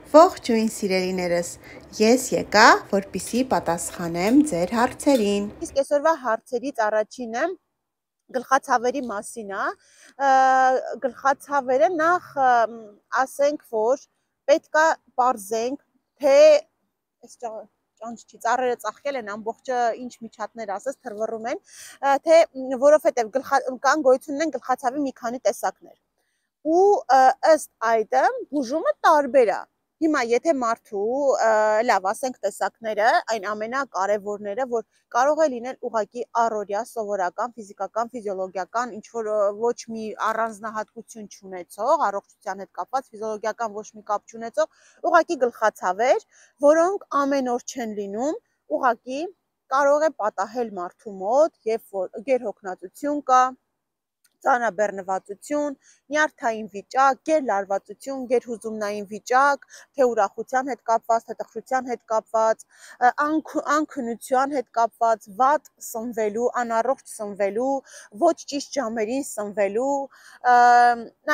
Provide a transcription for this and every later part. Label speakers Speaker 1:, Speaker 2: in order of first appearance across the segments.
Speaker 1: Ողջույն սիրելիներս, ես եկա, որպեսզի պատասխանեմ ձեր հարցերին։
Speaker 2: Իսկ այսօրվա հարցերից առաջինը գլխացավերի մասին է։ Գլխացավերը նախ ասենք, որ պետք է պարզենք, թե այս ճանճի ծառերը ծաղկել են, ամբողջը ինչ միջատներ ասես թռվռում են, թե որովհետև կան գոյություն ունեն գլխացավի մի քանի տեսակներ։ Ու ըստ այդը բուժումը տարբեր է։ Հիմա եթե մարդու լավ ասենք տեսակները, այն ամենակարևորները, որ կարող է լինել ուղղակի առօրյա սովորական, ֆիզիկական, ֆիզիոլոգիական, ինչ որ ոչ մի առանձնահատկություն չունեցող, առողջության հետ կապված ֆիզիոլոգիական ոչ մի կապ չունեցող, ուղղակի գլխացավեր, որոնք ամեն օր չեն լինում, ուղղակի կարող է պատահել մարդու մոտ, երբ որ գերհոգնածություն կա, ծանրաբեռնվածություն, նյարդային վիճակ, գերլարվածություն, գերհուզումնային վիճակ, թե ուրախության հետ կապված, թե տխրության հետ կապված, անքնության հետ կապված, վատ սնվելու, անառողջ սնվելու, ոչ ճիշտ ժամերին սնվելու,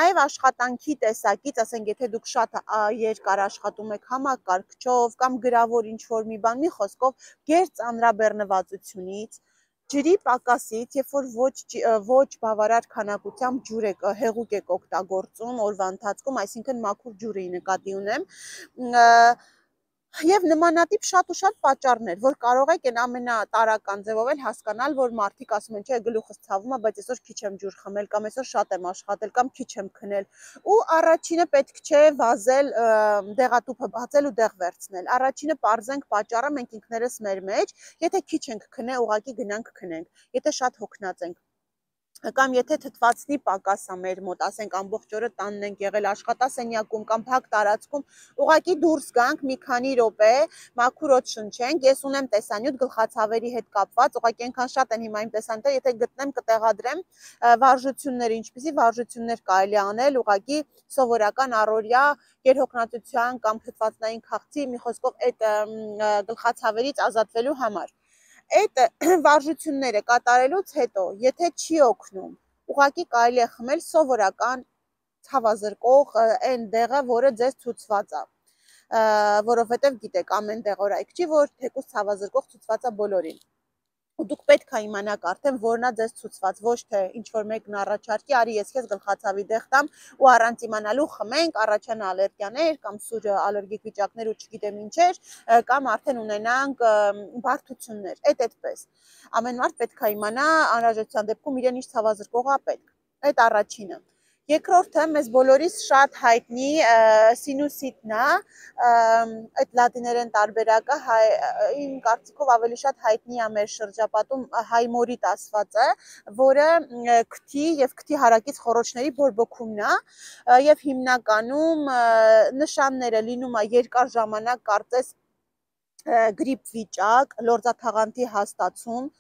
Speaker 2: նաև աշխատանքի տեսակից, ասենք եթե դուք շատ երկար աշխատում եք համակարգչով կամ գրավոր ինչ-որ մի բան, մի խոսքով գերծանրաբեռնվածությունից, ջրի պակասից, երբ որ ոչ բավարար քանակությամբ ջուր հեղուկ եք օգտագործում օրվա ընթացքում, այսինքն մաքուր ջուրի նկատի ունեմ, եւ նմանատիպ շատ ու շատ պատճառներ, որ կարող եք այն ամենատարական ձևով էլ հասկանալ, որ մարդիկ ասում են, չէ, գլուխս ցավում է, բայց այսօր քիչ եմ ջուր խմել կամ այսօր շատ եմ աշխատել կամ քիչ եմ քնել։ Ու առաջինը պետք չէ վազել, դեղատուփը բացել ու դեղ վերցնել։ Առաջինը պարզենք պատճառը մենք ինքներս մեր մեջ, եթե քիչ ենք քնել, ուղղակի գնանք քնենք։ Եթե շատ հոգնած ենք կամ եթե թթվածնի պակաս է մեր մոտ, ասենք ամբողջ օրը տանն ենք եղել աշխատասենյակում կամ փակ տարածքում, ուղղակի դուրս գանք մի քանի րոպե, մաքուր օդ շնչենք։ Ես ունեմ տեսանյութ գլխացավերի հետ կապված, ուղղակի այնքան շատ են հիմա իմ տեսանյութերը, եթե գտնեմ կտեղադրեմ վարժությունները, ինչպիսի վարժություններ կարելի անել, ուղղակի սովորական առօրյա գերհոգնածության կամ թթվածնային քաղցի, մի խոսքով այդ գլխացավերից ազատվելու համար։ Այդ վարժությունները կատարելուց հետո, եթե չի օգնում, ուղղակի կարելի է խմել սովորական ցավազրկող այն դեղը, որը ձեզ ցուցված է, որովհետև գիտեք, ամեն դեղորայք չի, որ թեկուզ ցավազրկող ցուցված է բոլորին։ Ու դուք պետք է իմանաք արդեն որն է ձեզ ցուցված, ոչ թե ինչ որ մեկն առաջարկի, արի ես քեզ գլխացավի դեղ տամ ու առանց իմանալու խմենք, առաջանա ալերգիաներ կամ սուր ալերգիկ վիճակներ ու չգիտեմ ինչեր, կամ արդեն ունենանք բարդություններ։ Այդպես։ Ամեն մարդ պետք է իմանա անհրաժեշտության դեպքում իրեն ինչ ցավազրկող է պետք։ Այդ առաջինը։ Երկրորդը մեզ բոլորիս շատ հայտնի սինուսիտն է, այդ լատիներեն տարբերակը իմ կարծիքով ավելի շատ հայտնի է մեր շրջապատում հայմորիտ ասվածը, որը քթի եւ քթի հարակից խոռոչների բորբոքումն է եւ հիմնականում նշանները լինում է երկար ժամանակ կարծես գրիպ վիճակ, լորձաթաղանթի հաստացում,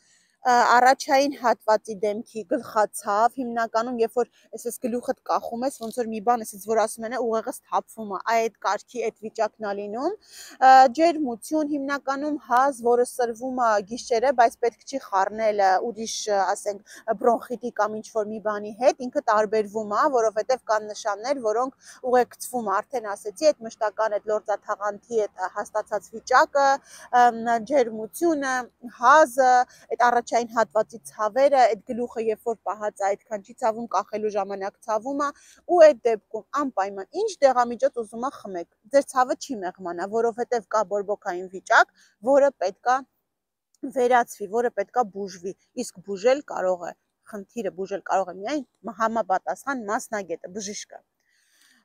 Speaker 2: առաջային հատվածի դեմքի գլխացավ, հիմնականում երբ որ այսպես գլուխդ կախում ես, ոնց որ մի բան, այսպես որ ասում են, ուղեղս թափվում է, այդ կարգի այդ վիճակն է լինում, ջերմություն, հիմնականում հազ, որը սրվում է գիշերը, բայց պետք չի խառնել ուրիշ, ասենք, բրոնխիտի կամ ինչ որ մի բանի հետ, ինքը տարբերվում է, որովհետև կան նշաններ, որոնք ուղեկցվում արդեն ասեցի, այդ մշտական այդ լորձաթաղանթի այդ հաստացած վիճակը, ջերմությունը, հազը, այդ առաջային հատվածի ցավերը, այդ գլուխը երբ որ պահած է այդքան չի ցավում, կախելու ժամանակ ցավում է ու այդ դեպքում անպայման ինչ դեղամիջոց ուզում է խմեք, ձեր ցավը չի մեղմանա, որովհետև կա բորբոքային վիճակ, որը պետքա վերացվի, որը պետքա բուժվի, իսկ բուժել կարող է, խնդիրը բուժել կարող է միայն համապատասխան մասնագետը, բժիշկը։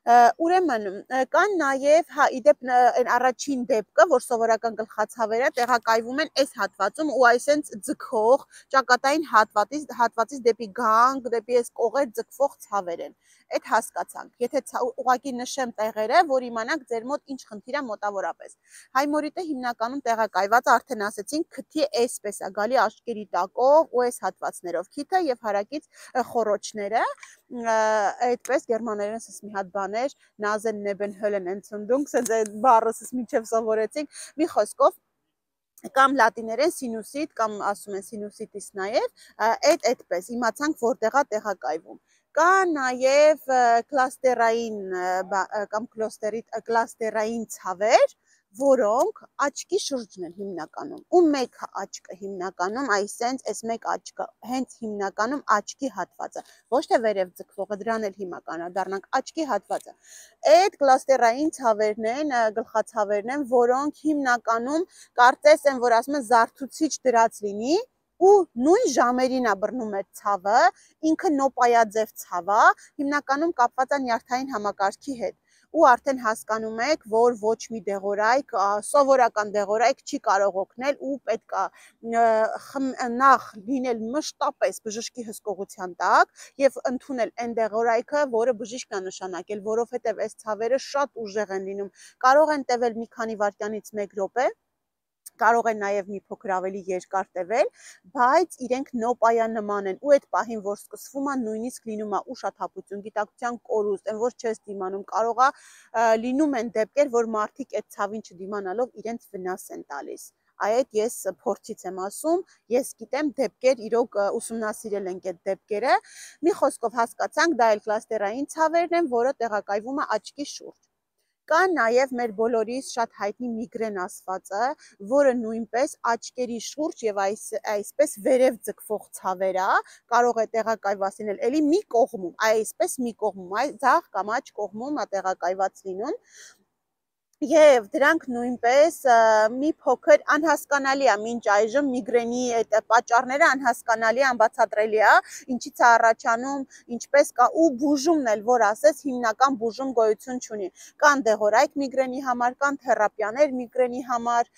Speaker 2: Ուրեմն կան նաև իդեպ առաջին դեպքը, որ սովորական գլխացավերը տեղակայվում են այս հատվածում ու այսենց ձգող ճակատային հատվածից դեպի գանք, դեպի այս կողեր ձգվող ցավեր են։ Այդ հասկացանք։ Եթե ուղղակի նշեմ տեղերը, որ իմանաք ձեր մոտ ինչ խնդիր է մոտավորապես։ Հայմորիտը հիմնականում տեղակայված արդեն ասեցինք քթի այսպես է գալի աչքերի տակով ու այս հատվածներով քիթը եւ հարակից խոռոչները, այդպես գերմաներեն ասես մի հատ բան էր, Nasen neben Höllenentzündung, sense այդ բառը մինչև սովորեցինք, մի խոսքով կամ լատիներեն սինուսիտ կամ ասում են սինուսիտիս նաև այդպես իմացանք որտեղ է տեղակայվում կա նաև կլաստերային կամ կլաստերային ցավեր որոնք աչքի շուրջն են հիմնականում ու մեկ աչքը հիմնականում այսենց այս մեկ աչքը հենց հիմնականում աչքի հատվածը ոչ թե վերև ձգվողը դրան էլ հիմա կանադառնանք աչքի հատվածը այդ կլաստերային ցավերն են գլխացավերն են որոնք հիմնականում կարծես են որ ասում են զարթուցիչ դրած լինի ու նույն ժամերին է բռնում այդ ցավը ինքը նոպայաձև ցավ է հիմնականում կապված է նյարդային համակարգի հետ ու արդեն հասկանում եք, որ ոչ մի դեղորայք, սովորական դեղորայք չի կարող օգնել ու պետք է նախ լինել մշտապես բժշկի հսկողության տակ եւ ընդունել այն դեղորայքը, որը բժիշկն է նշանակել, որովհետեւ այս ցավերը շատ ուժեղ են լինում, կարող են տևել մի քանի վայրկյանից 1 րոպե կարող են նաև մի փոքր ավելի երկար տևել, բայց իրենք նոպայանման են ու այդ պահին որ սկսվում է նույնիսկ լինում է ուշաթափություն, գիտակցության կորուստ, այն որ չես դիմանում, կարող է լինում են դեպքեր, որ մարդիկ այդ ցավին չդիմանալով իրենց վնաս են տալիս։ Այդ ես փորձից եմ ասում, ես գիտեմ դեպքեր իրոք ուսումնասիրել ենք այդ դեպքերը։ Մի խոսքով հասկացանք, դա էլ կլաստերային ցավերն են, որը տեղակայվում է աչքի շուրջ։ Կա նաև մեր բոլորիս շատ հայտնի միգրեն ասվածը, որը նույնպես աչքերի շուրջ եւ այսպես վերև ձգվող ցավեր է, կարող է տեղակայված լինել էլի մի կողմում, այսպես մի կողմում, ձախ կամ աջ կողմում է տեղակայված լինում։ Եվ դրանք նույնպես մի փոքր անհասկանալի է մինչ այժմ միգրենի այդ պատճառները անհասկանալի անբացատրելի է, ինչից է առաջանում, ինչպես կա ու բուժումն էլ որ ասես հիմնական բուժում գոյություն չունի։ Կան դեղորայք միգրենի համար, կան թերապիաներ միգրենի համար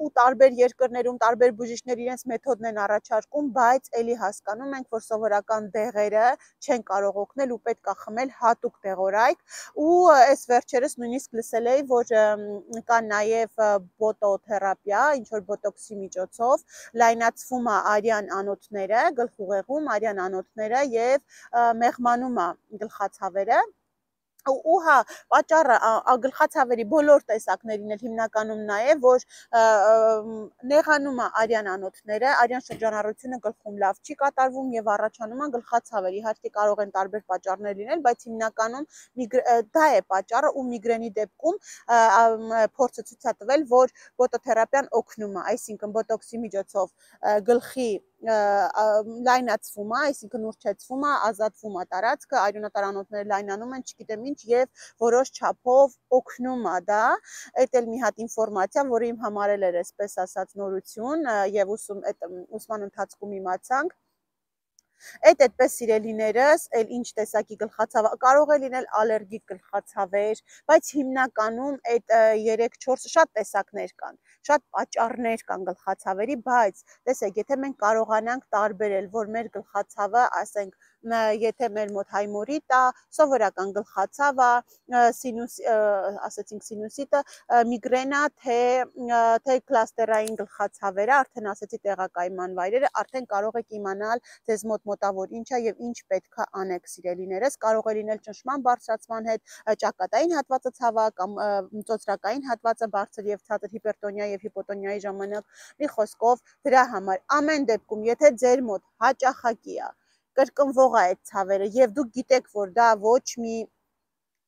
Speaker 2: ու տարբեր երկրներում տարբեր բուժիչներ իրենց մեթոդն են առաջարկում, բայց էլի հասկանում ենք, որ սովորական դեղերը չեն կարող օգնել ու պետք է խմել հատուկ դեղորայք ու այս վերջերս նույնիսկ լսել էի, որ կա նաև բոտոթերապիա, ինչ-որ բոտոքսի միջոցով, լայնացվում է արյան անոթները, գլխուղեղում արյան անոթները և մեղմանում է գլխացավերը ու հա պատճառը գլխացավերի բոլոր տեսակներին էլ հիմնականում նա է, որ նեղանում է արյան անոթները, արյան շրջանառությունը գլխում լավ չի կատարվում եւ առաջանում է գլխացավեր։ Իհարկե կարող են տարբեր պատճառներ լինել, բայց հիմնականում դա է պատճառը ու միգրենի դեպքում փորձը ցույց է տվել, որ բոտոթերապիան օգնում է, այսինքն բոտոքսի միջոցով գլխի լայնացվում է, այսինքն ուռչեցվում է, ազատվում է տարածքը, արյունատար անոթները լայնանում են, չգիտեմ ինչ եւ որոշ չափով օգնում է դա։ Այդ էլ մի հատ ինֆորմացիա, որը իմ համար էլ էր այսպես ասած նորություն եւ ուսման ընթացքում իմացանք։ Այդպես սիրելիներս, էլ ինչ տեսակի գլխացավ կարող է լինել ալերգիկ գլխացավեր, բայց հիմնականում այդ 3-4 շատ տեսակներ կան, շատ պատճառներ կան գլխացավերի, բայց տեսեք, եթե մենք կարողանանք տարբերել, որ մեր գլխացավը, ասենք, եթե մեր մոտ հայմորիտ է, սովորական գլխացավ է, ասեցինք սինուսիտը, միգրենա, թե կլաստերային գլխացավերը, արդեն ասեցի տեղակայման վայրերը, արդեն կարող եք իմանալ ձեզ մոտ մոտավոր ինչ է եւ ինչ պետք է անեք սիրելիներս, կարող է լինել ճնշման բարձրացման հետ ճակատային հատվածը ցավը կամ ծոծրակային հատվածը բարձր եւ ցածր հիպերտոնիա եւ հիպոտոնիայի ժամանակ։ Մի խոսքով դրա համար ամեն դեպքում, եթե ձեր մոտ հաճախակի է, կրկնվող է այդ ցավերը եւ դուք գիտեք, որ դա ոչ մի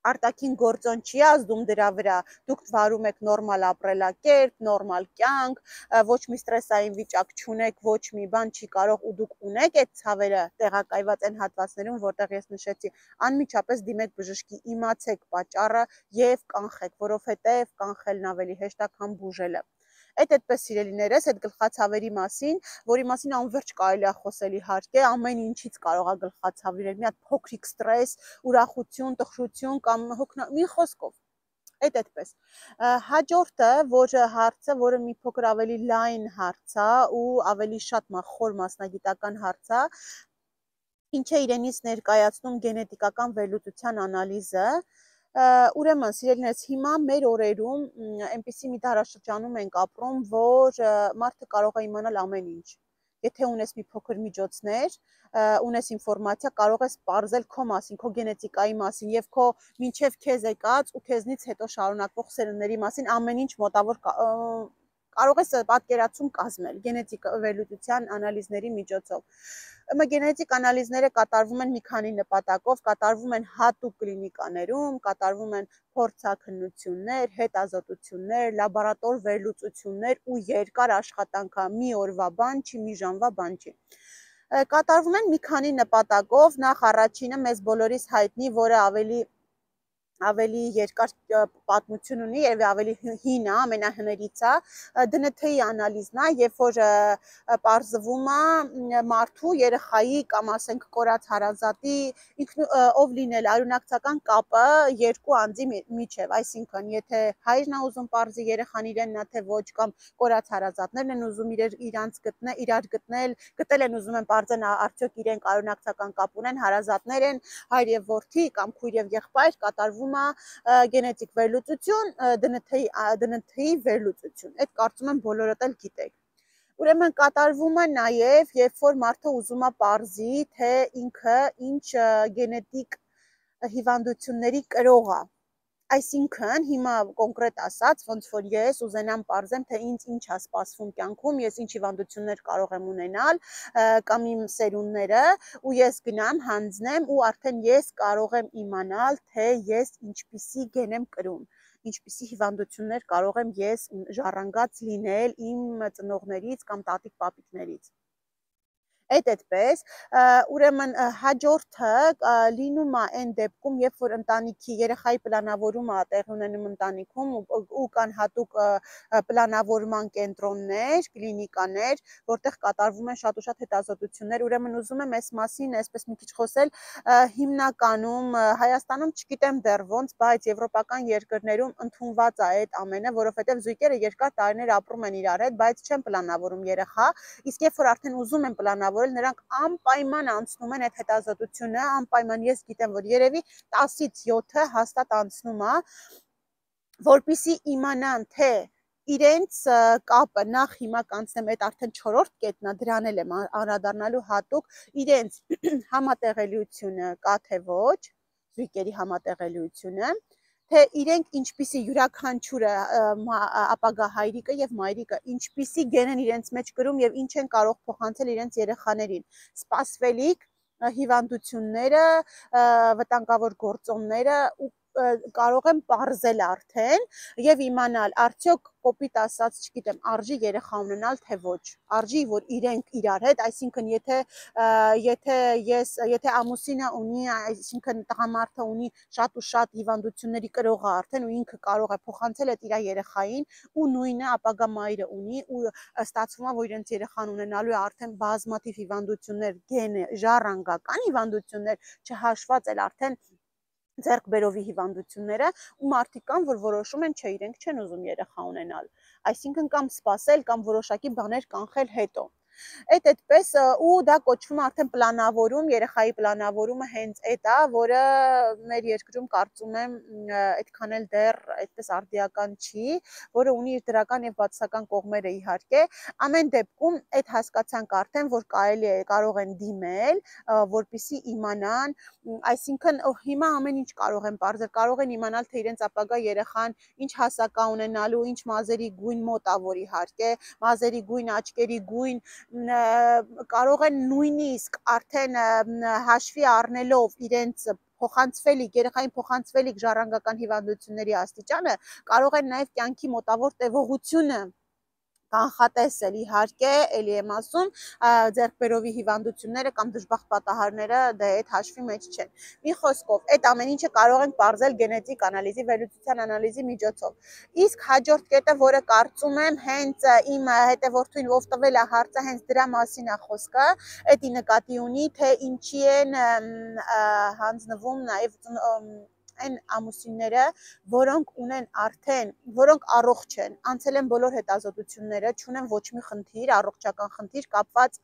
Speaker 2: արտաքին գործոն չի ազդում դրա վրա, դուք վարում եք նորմալ ապրելակերպ, նորմալ կյանք, ոչ մի ստրեսային վիճակ չունեք, ոչ մի բան չի կարող ու դուք ունեք այդ ցավերը տեղակայված այն հատվածներում, որտեղ ես նշեցի, անմիջապես դիմեք բժշկի, իմացեք պատճառը եւ կանխեք, որովհետեւ կանխելն ավելի հեշտ է, քան բուժելը։ Այդպես սիրելիներս, այդ գլխացավերի մասին, որի մասին անverջ կարելի է խոսել իհարկե, ամեն ինչից կարող է գլխացավ լինել, մի հատ փոքրիկ ստրես, ուրախություն, տխրություն կամ մի խոսքով։ Այդպես։ Հաջորդը, հարցը, որը մի փոքր ավելի լայն հարց է ու ավելի շատ խոր մասնագիտական հարց է, ինչ է իրենից ներկայացնում գենետիկական վերլուծության անալիզը։ Ուրեմն, սիրելիներս, հիմա մեր օրերում այնպիսի մի դարաշրջանում ենք ապրում, որ մարդը կարող է իմանալ ամեն ինչ։ Եթե ունես մի փոքր միջոցներ, ունես ինֆորմացիա, կարող ես պարզել քո մասին, քո գենետիկայի մասին եւ քո մինչեւ քեզ եկած ու քեզնից հետո շարունակվող սերունդների մասին ամեն ինչ մոտավոր կարող ես պատկերացում կազմել գենետիկ վերլուծության անալիզների միջոցով։ Գենետիկ անալիզները կատարվում են մի քանի նպատակով, կատարվում են հատուկ կլինիկաներում, կատարվում են փորձաքննություններ, հետազոտություններ, լաբորատոր վերլուծություններ ու երկար աշխատանք, մի օրվա բան չի, մի ժամվա բան չի։ Կատարվում են մի քանի նպատակով, նախ առաջինը մեզ բոլորիս հայտնի, որը ավելի երկար պատմություն ունի եւ ավելի հին է, ամենահներից է, ԴՆԹ-ի անալիզն է, երբ որ պարզվում է մարդու, երեխայի կամ ասենք կորած հարազատի ով լինել արյունակցական կապը երկու անձի միջև, այսինքն եթե հայրն է ուզում պարզի երեխան իրենն է թե ոչ, կամ կորած հարազատներն են ուզում իրար գտել են ուզում են պարզեն արդյոք իրենք արյունակցական կապ ունեն, հարազատներ են, հայր եւ որդի կամ քույր եւ եղբայր, կատարվում գենետիկ վերլուծություն, ԴՆԹ-ի վերլուծություն, այդ կարծում եմ բոլորդ էլ գիտեք։ Ուրեմն կատարվում է նաև, երբ որ մարդը ուզում է պարզի, թե ինքը ինչ գենետիկ հիվանդությունների կրող է։ Այսինքն հիմա կոնկրետ ասած, ոնց որ ես ուզենամ պարզեմ, թե ինձ ինչ է սպասվում կյանքում, ես ինչ հիվանդություններ կարող եմ ունենալ, կամ իմ սերունդները, ու ես գնամ, հանձնեմ ու արդեն ես կարող եմ իմանալ, թե ես ինչպիսի գեն եմ կրում, ինչպիսի հիվանդություններ կարող եմ ես ժառանգած լինել իմ ծնողներից կամ տատիկ-պապիկներից։ Այդպես, ուրեմն հաջորդը լինում է այն դեպքում, երբ որ ընտանիքի երեխայի պլանավորումը տեղի ունենում ընտանիքում ու կան հատուկ պլանավորման կենտրոններ, կլինիկաներ, որտեղ կատարվում են շատ ու շատ հետազոտություններ, ուրեմն ուզում եմ այս մասին այսպես մի քիչ խոսել, հիմնականում Հայաստանում չգիտեմ դեռ ոնց, բայց եվրոպական երկրներում ընդունված է այդ ամենը, որովհետև զույգերը երկար տարիներ ապրում են իրար հետ, բայց չեն պլանավորում երեխա, իսկ երբ որ արդեն ուզում են պլանավորել, նրանք անպայման անցնում են այդ հետազոտությունը, անպայման ես գիտեմ, որ երևի 10-ից 7-ը հաստատ անցնում է, որպեսզի իմանան, թե իրենց կապը նախ հիմա կանցնեմ, այդ արդեն 4-րդ կետն է, դրան էլ եմ անդրադառնալու հատուկ, իրենց համատեղելիությունը կա թե ոչ, զույգերի համատեղելիությունը, թե իրենք ինչպիսի յուրաքանչյուրը ապագա հայրիկը եւ մայրիկը ինչպիսի գեն են իրենց մեջ կրում եւ ինչ են կարող փոխանցել իրենց երեխաներին, սպասվելիք հիվանդությունները, վտանգավոր գործոնները ու կարող եմ պարզել արդեն եւ իմանալ արդյոք կոպիտ ասած, չգիտեմ, արժի երեխա ունենալ թե ոչ, արժի որ իրենք իրար հետ, այսինքն եթե ամուսինը ունի, այսինքն տղամարդը ունի շատ ու շատ հիվանդությունների կրող է արդեն ու ինքը կարող է փոխանցել այդ իր երեխային ու նույնը ապագա մայրը ունի ու ստացվում է որ իրենց երեխան ունենալու է արդեն բազմաթիվ հիվանդություններ, գենե, ժառանգական հիվանդություններ, չհաշված էլ արդեն ձեռք բերովի հիվանդությունները ու մարդիկ կան, որ որոշում են, չէ, իրենք չեն ուզում երեխա ունենալ, այսինքն կամ սպասել կամ որոշակի բաներ կանխել հետո։ Այդպես ու դա կոչվում է արդեն պլանավորում, երեխայի պլանավորումը հենց այդ է, որը մեր երկրում կարծում եմ այդքան էլ դեռ այդպես արդիական չի, որը ունի իր դրական եւ բացասական կողմերը իհարկե։ Ամեն դեպքում այդ հասկացանք արդեն, որ կարող են դիմել, որպեսզի իմանան, այսինքն հիմա ամեն ինչ կարող են պարզել, կարող են իմանալ, թե իրենց ապագա երեխան ինչ հասակ է ունենալու, ինչ մազերի գույն մոտ է, որ իհարկե, մազերի գույն, աչքերի գույն, կարող են նույնիսկ արդեն հաշվի առնելով իրենց փոխանցվելիք, երեխային փոխանցվելիք ժառանգական հիվանդությունների աստիճանը, կարող են նաև կյանքի մոտավոր տևողությունը կանխատեսել, իհարկե, էլի եմ ասում, ձեռքբերովի հիվանդությունները կամ դժբախտ պատահարները դա այդ հաշվի մեջ չեն։ Մի խոսքով, այդ ամեն ինչը կարող ենք պարզել գենետիկ անալիզի, վերլուծության անալիզի միջոցով։ Իսկ հաջորդ կետը, որը կարծում եմ հենց իմ հետևորդին ով տվել է հարցը, հենց դրա մասին է խոսքը, էդի նկատի ունի, թե ինչի են հանձնվում նաև այն ամուսինները, որոնք ունեն արդեն, որոնք առողջ են, անցել են բոլոր հետազոտությունները, չունեն ոչ մի խնդիր, առողջական խնդիր կապված,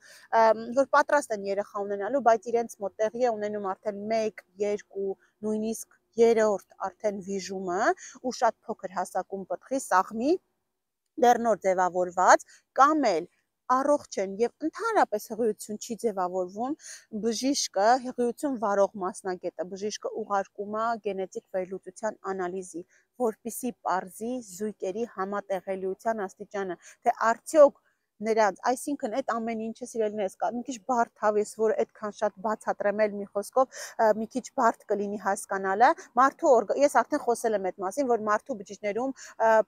Speaker 2: որ պատրաստ են երեխա ունենալու, բայց իրենց մոտ տեղի է ունենում արդեն 1, 2, նույնիսկ 3-րդ արդեն վիժումը ու շատ փոքր հասակում պտղի, սաղմի, դեռ նոր ձևավորված, կամ էլ առողջ են եւ ընդհանրապես հղիություն չի ձևավորվում, բժիշկը, հղիություն վարող մասնագետը, բժիշկը ուղարկում է գենետիկ վերլուծության անալիզի, որպիսի պարզի զույգերի համատեղելիության աստիճանը, թե արդյոք նրանց, այսինքն այդ ամեն ինչը սիրելիներս կա, մի քիչ բարդ հավես, որ այդքան շատ բացատրեմ էլ մի խոսքով, մի քիչ բարդ կլինի հասկանալը, ես արդեն խոսել եմ այդ մասին, որ մարդու բջիջներում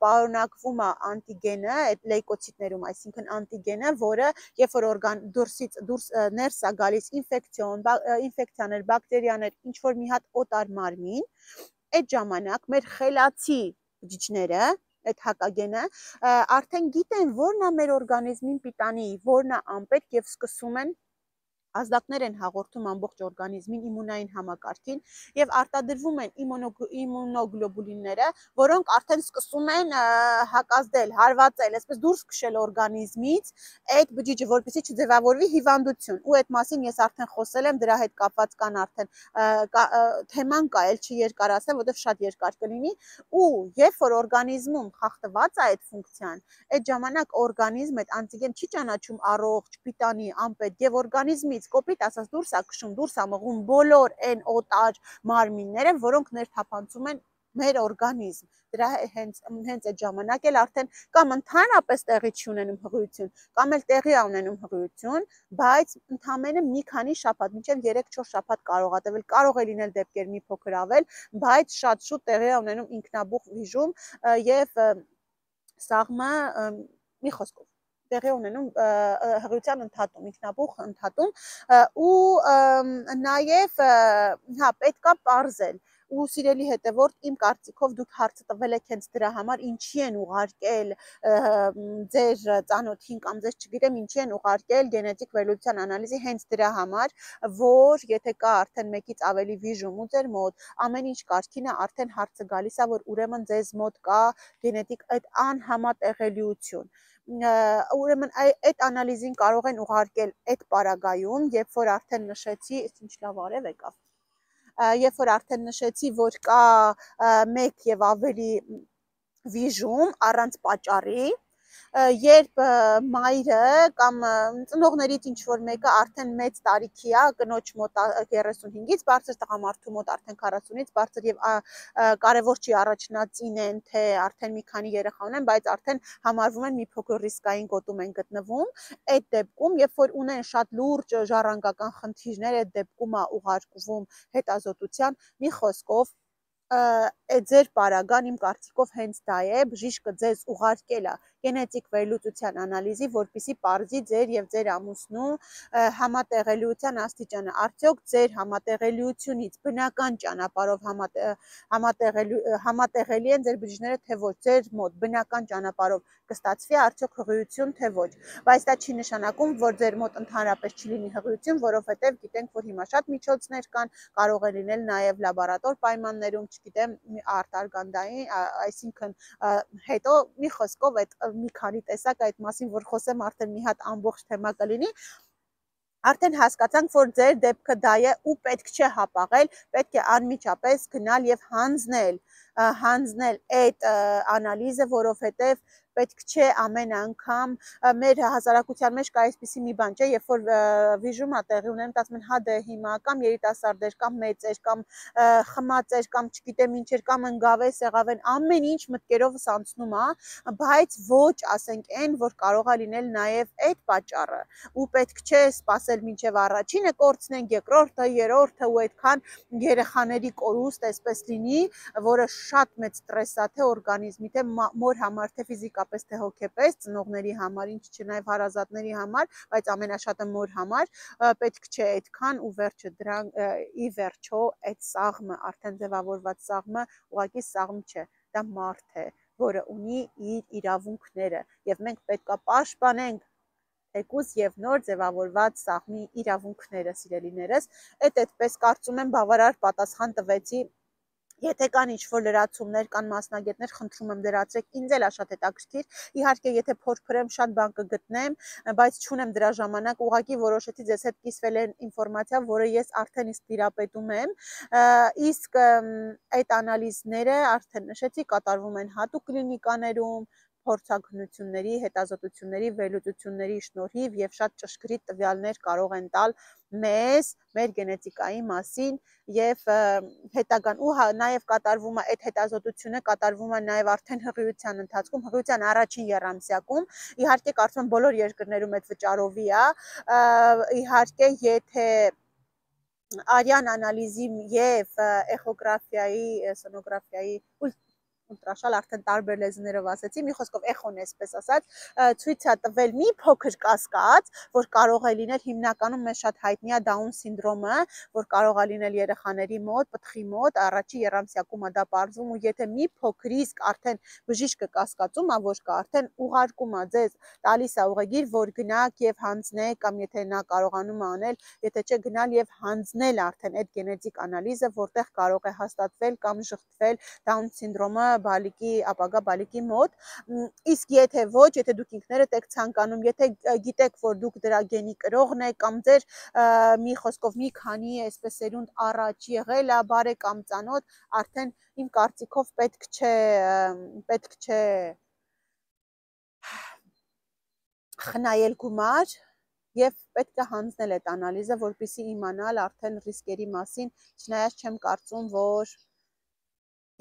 Speaker 2: պարունակվում է անտիգենը, այդ լեյկոցիտներում, այսինքն անտիգենը, որը երբ որ դուրս ներս է գալիս ինֆեկցիաներ, բակտերիաներ, ինչ որ մի հատ օտար մարմին, այդ ժամանակ մեր խելացի բջիջները, այդ հակագենը, արդեն գիտեն որն է մեր օրգանիզմին պիտանի, որն է անպետք եւ սկսում են ազդակներ են հաղորդում ամբողջ օրգանիզմին իմունային համակարգին եւ արտադրվում են իմունոգլոբուլինները, որոնք արդեն սկսում են հակազդել, հարվածել, այսպես դուրս քշել օրգանիզմից այդ բջիջը, որպեսզի չձևավորվի հիվանդություն։ Ու այդ մասին ես արդեն խոսել եմ, դրա հետ կապված կան արդեն թեման կա, էլ չերկարացնեմ, որովհետեւ շատ երկար կլինի, ու երբ որ օրգանիզմում խախտված է այդ ֆունկցիան, այդ ժամանակ օրգանիզմը այդ անտիգեն չի ճանաչում առողջ, պիտանի, անպետք եւ օրգանիզմի կոպիտ ասած դուրս է քշում, դուրս է մղում բոլոր այն օտար մարմինները, որոնք ներթափանցում են մեր օրգանիզմ։ Դրա հենց այդ ժամանակ էլ արդեն կամ ընդհանրապես տեղի չունենում հղիություն, կամ էլ տեղի ունենում հղիություն, բայց ընդամենը մի քանի շաբաթ, մինչև 3-4 շաբաթ կարող է տևել, կարող է լինել դեպքեր մի փոքր ավել, բայց շատ շուտ տեղի ունենում ինքնաբուխ վիժում եւ սաղմը մի խոսքով տեղի ունենում հղիության ընդհատում, ինքնաբուխ ընդհատում ու նաև հա պետք է պարզել ու սիրելի հետևորդ, իմ կարծիքով դուք հարցը տվել եք հենց դրա համար, ինչի են ուղարկել ձեր ծանոթին կամ ձեզ չգիտեմ ինչի են ուղարկել գենետիկ վերլուծության անալիզի հենց դրա համար, որ եթե կա արդեն մեկից ավելի վիժում ու ձեր մոտ, ամեն ինչ կարգին է, արդեն հարցը գալիս է, որ ուրեմն ձեզ մոտ կա գենետիկ այդ անհամատեղելիություն։ Ուրեմն այդ անալիզին կարող են ուղարկել այդ պարագայում, երբ որ արդեն նշեցի, ինչ լավ արև եկավ, երբ որ արդեն նշեցի, որ կա մեկ եւ ավելի վիժում առանց պատճառի, երբ մայրը կամ ծնողներից ինչ որ մեկը արդեն մեծ տարիքի է, կնոջ մոտ 35-ից բարձր, տղամարդու մոտ արդեն 40-ից բարձր եւ կարևոր չի առաջնածին են, թե արդեն մի քանի երեխա ունեն, բայց արդեն համարվում են մի փոքր ռիսկային գոտում են գտնվում, այդ դեպքում, երբ որ ունեն շատ լուրջ ժառանգական խնդիրներ, այդ դեպքում է ուղարկվում հետազոտության, մի խոսքով այդ ձեր պարագան իմ կարծիքով հենց դա է, բժիշկը ձեզ ուղարկել է գենետիկ վերլուծության անալիզի, որպեսզի պարզի ձեր եւ ձեր ամուսնու համատեղելիության աստիճանը, արդյոք ձեր համատեղելիությունից բնական ճանապարհով համատեղելի են ձեր բջիջները, թե ոչ, ձեր մոտ բնական ճանապարհով կստացվի արդյոք հղիություն, թե ոչ, բայց դա չի նշանակում, որ ձեր մոտ ընդհանրապես չի լինի հղիություն, որովհետեւ գիտենք, որ հիմա շատ միջոցներ կան, կարող է լինել նաեւ լաբորատոր պայմաններում, չգիտեմ, արտարգանդային, այսինքն հետո մի խոսքով այդ մի քանի տեսակ այդ մասին, որ խոսեմ, արդեն մի հատ ամբողջ թեմա կլինի, արդեն հասկացանք, որ ձեր դեպքը դա է ու պետք չէ հապաղել, պետք է անմիջապես գնալ եւ հանձնել այդ անալիզը, որովհետեւ պետք չէ ամեն անգամ մեր հասարակության մեջ կա այսպիսի մի բան, չէ, երբ որ վիժում է տեղի ունենում, ասում են հա դե հիմա կամ երիտասարդեր, կամ մեծեր, կամ խմածեր, կամ չգիտեմ ինչեր, կամ ընկավեր, սեղավեն, ամեն ինչ մտքերովս անցնում է, բայց ոչ ասենք այն, որ կարող է լինել նաև այդ պատճառը, ու պետք չէ սпасել մինչև առաջինը կորցնենք, երկրորդը, երրորդը ու այդքան երեխաների կորուստ այսպես լինի, որը շատ մեծ ստրես է թե օրգանիզմի, թե մոր համար, թե ֆիզիկապես, թե հոգեպես, ծնողների համար, ինչ չէ նաև հարազատների համար, բայց ամենաշատը մոր համար, պետք չէ այդքան ու վերջը դրան ի վերջո այդ սաղմը, արդեն ձևավորված սաղմը ուղղակի սաղմ չէ, դա մարդ է, որը ունի իր իրավունքները եւ մենք պետք է պաշտպանենք թեկուզ եւ նոր ձևավորված սաղմի իրավունքները, սիրելիներս, այդպես կարծում եմ բավարար պատասխան տվեցի։ Եթե կան ինչ-որ լրացումներ, կան մասնագետներ, խնդրում եմ լրացրեք, ինձ էլ է շատ հետաքրքիր, իհարկե եթե փորփրեմ շատ բան կգտնեմ, բայց չունեմ դրա ժամանակ, ուղղակի որոշեցի ձեզ հետ կիսվել այն ինֆորմացիա, որը ես արդեն իսկ տիրապետում եմ, իսկ այդ անալիզները արդեն նշեցի կատարվում են հատուկ կլինիկաներում, փորձագնությունների, հետազոտությունների, վերլուծությունների շնորհիվ եւ շատ ճշգրիտ տվյալներ կարող են տալ մեզ մեր գենետիկայի մասին եւ հետագան ու նաեւ կատարվում է այդ հետազոտությունը կատարվում է նաեւ արդեն հղիության ընթացքում, հղիության առաջին եռամսյակում, իհարկե կարծում եմ բոլոր երկրներում այդ վճարովի է, իհարկե եթե արյան անալիզի եւ էխոգրաֆիայի, սոնոգրաֆիայի ուլտրաշալ արդեն տարբեր լեզուներով ասեցի, մի խոսքով էխոն էսպես ասած, ցույց է տվել մի փոքր կասկած, որ կարող է լինել հիմնականում մեզ շատ հայտնի է Down սինդրոմը, որ կարող է լինել երեխաների մոտ, պտղի մոտ, առաջի եռամսյակում է դա պարզվում ու եթե մի փոքր իսկ արդեն բժիշկը կասկածում է, որ կա, արդեն ուղարկում է ձեզ, տալիս է ուղեգիր, որ գնաք եւ հանձնեք կամ եթե նա կարողանում է անել, եթե չէ գնալ եւ հանձնել արդեն այդ գենետիկ անալիզը, որտեղ կարող է հաստատվել կամ շղթվել Down սինդրոմը բալիկի, ապագա բալիկի մոտ, իսկ եթե ոչ, եթե դուք ինքներդ եք ցանկանում, եթե գիտեք, որ դուք դրա գենի կրողն եք կամ ձեր մի խոսքով մի քանի այսպես սերունդ առաջ եղել է բարեկամ ծանոթ, արդեն իմ կարծիքով պետք չէ խնայել գումար եւ պետք է հանձնել այդ անալիզը, որպեսզի իմանալ արդեն ռիսկերի մասին, չնայած չեմ կարծում, որ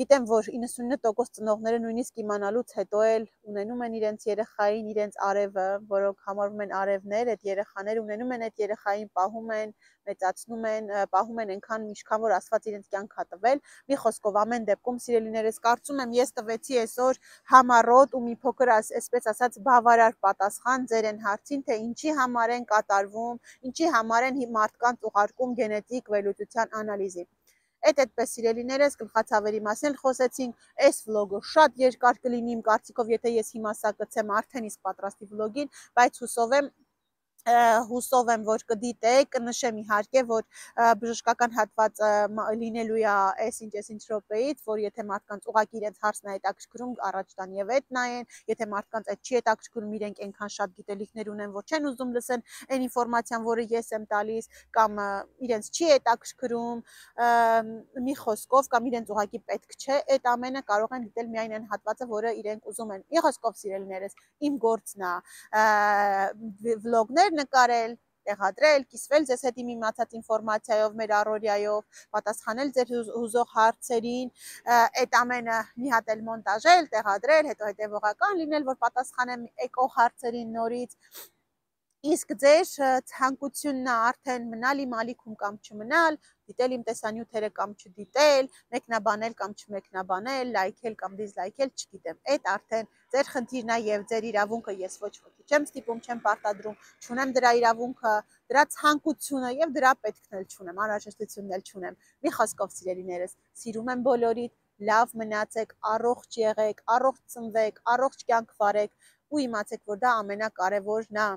Speaker 2: գիտեմ, որ 99% ծնողները նույնիսկ իմանալուց հետո էլ ունենում են իրենց երեխային, իրենց արևը, որոնք համարվում են արևներ, այդ երեխաները ունենում են այդ երեխային, պահում են, մեծացնում են, պահում են այնքան ինչքան որ Աստված իրենց կյանք է տվել։ Մի խոսքով ամեն դեպքում սիրելիներս, կարծում եմ ես տվեցի այսօր համառոտ ու մի փոքր այսպես ասած բավարար պատասխան ձեր այն հարցին, թե ինչի համար են կատարվում, ինչի համար են մարդկանց ուղարկում գենետիկ վերլուծության անալիզի։ Այդպես սիրելիներս գլխացավերի մասին խոսեցինք, այս վլոգը շատ երկար կլինի իմ կարծիքով, եթե ես հիմա սա կցեմ արդեն իսկ պատրաստի վլոգին, բայց հուսով եմ, որ կդիտեք, կնշեմ իհարկե, որ բժշկական հատված լինելու է այս ինչ րոպեից, որ եթե մարդկանց ուղղակի իրենց հարցն է հետաքրքրում, առաջ տան եւ այդ նայեն, եթե մարդկանց այդ չի հետաքրքրում, իրենք այնքան շատ գիտելիքներ ունեն, որ չեն ուզում լսեն այն ինֆորմացիան, որը ես եմ տալիս, կամ իրենց չի հետաքրքրում, մի խոսքով կամ իրենց ուղղակի պետք չէ, այդ ամենը կարող են դիտել միայն այն հատվածը, որը իրենք ուզում են։ Մի խոսքով սիրելիներս, իմ գործն է վլոգներ նկարել, տեղադրել, կիսվել ձեզ հետ իմ իմացած ինֆորմացիայով, մեր առօրյայով, պատասխանել ձեր հուզող հարցերին, այդ ամենը մի հատ էլ մոնտաժել, տեղադրել, հետո հետևողական լինել, որ պատասխանեմ եկող հարցերին նորից։ Իսկ ձեր ցանկությունն է արդեն մնալ իմ ալիքում կամ չմնալ, դիտել իմ տեսանյութերը կամ չդիտել, մեկնաբանել կամ չմեկնաբանել, լայքել կամ դիզլայքել, չգիտեմ։ Այդ արդեն ձեր խնդիրն է եւ ձեր իրավունքը ես ոչ ոքի չեմ ստիպում, չեմ պարտադրում, չունեմ դրա իրավունքը, դրա ցանկությունը եւ դրա պետքն էլ չունեմ, անհրաժեշտությունն էլ չունեմ։ Մի խոսքով սիրելիներս, սիրում եմ բոլորիդ, լավ մնացեք, առողջ եղեք, առողջ ծնվեք, առողջ կյանք վարեք ու իմացեք, որ դա ամենակարևորն է։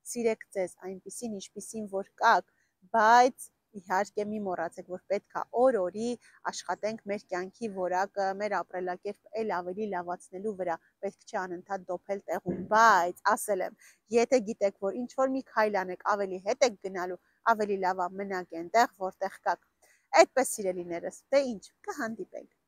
Speaker 2: Սիրեք ձեզ այնպիսին, ինչպիսին որ կաք, բայց իհարկե մի մոռացեք, որ պետք է օր-օրի աշխատենք մեր կյանքի որակը, մեր ապրելակերպը էլ ավելի լավացնելու վրա, պետք չէ անընդհատ դոփել տեղում, բայց ասել եմ, եթե գիտեք, որ ինչ-որ մի քայլ անեք, ավելի հետ եք գնալու, ավելի լավ է մնաք այնտեղ, որտեղ կաք։ Այդպես սիրելիներս, դե ինչ, կհանդիպենք։